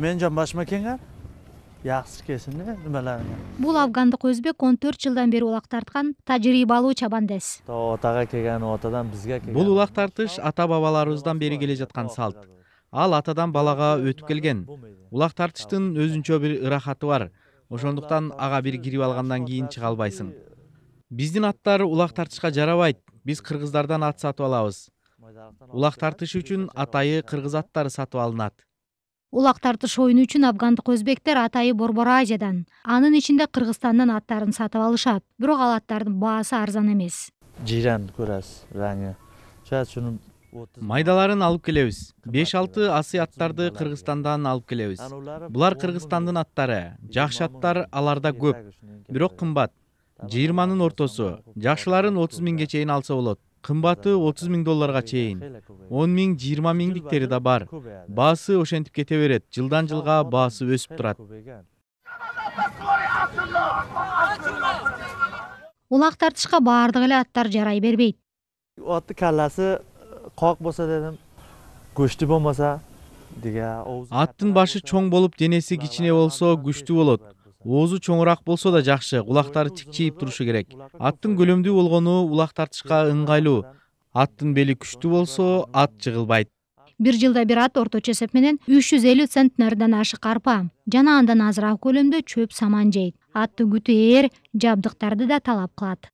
Мен жамбашма кеңер. Yaxshi kesin nimalarni. Бул афгандык өзбек 14 жылдан бери улак тарткан тажрыйбалуу чабандес. Отага келген, отадан бизге келген. Бул улак тартыш ата бабаларыбыздан бери келе жаткан салт. Ал атадан балага өтүп келген. Улак тартыштын өзүнчө бир ырахаты бар. Ошондуктан ага бир кирип алгандан кийин чыга албайсың. Биздин аттар улак тартышка жарабайт. Биз кыргыздардан ат сатып алабыз. Улак тартыш үчүн атайы кыргыз аттары сатып алынат. Улак тартыш оюну үчүн афгандык өзбектер атайы Борбор Азиядан, анын ичинде Кыргызстандан аттарын сатып алышат. Бирок ал аттардын баасы арзан эмес. Жирен көрөсүз, раңы. Шунун Майдаларын алып келебиз. 5-6 асый аттарды Кыргызстандан алып келебиз. Булар Кыргызстандын аттары. Жакшы аттар аларда көп, бирок кымбат. 20-нын ортосу. Жакшыларын 30 миңге чейин алса болот. Кымбаты 30 миң долларга чейин. 10 миң, 20 миңдиктери да бар. Баасы ошентип кете берет. Жылдан жылга баасы өсүп турат. Улак тартышка баардык эле аттар жарай бербейт. Аттын калласы кок болсо дедим, күчтүү болмаса деге. Аттын башы чоң болуп, денеси кичине болсо күчтүү болот. Оозу чоңураак болсо да жакшы, кулактары тикчейип турушу керек. Аттын көлөмдүү болгону улак тартышка ыңгайлуу. Аттын бели күчтүү болсо, ат жыгылбайт. Бир жылда бир ат орточо эсеп менен 350 центнерден ашык арпа жана андан азыраак көлөмдө чөп саман жейт. Аттын күтү ээр, жабдыктарды да талап кылат.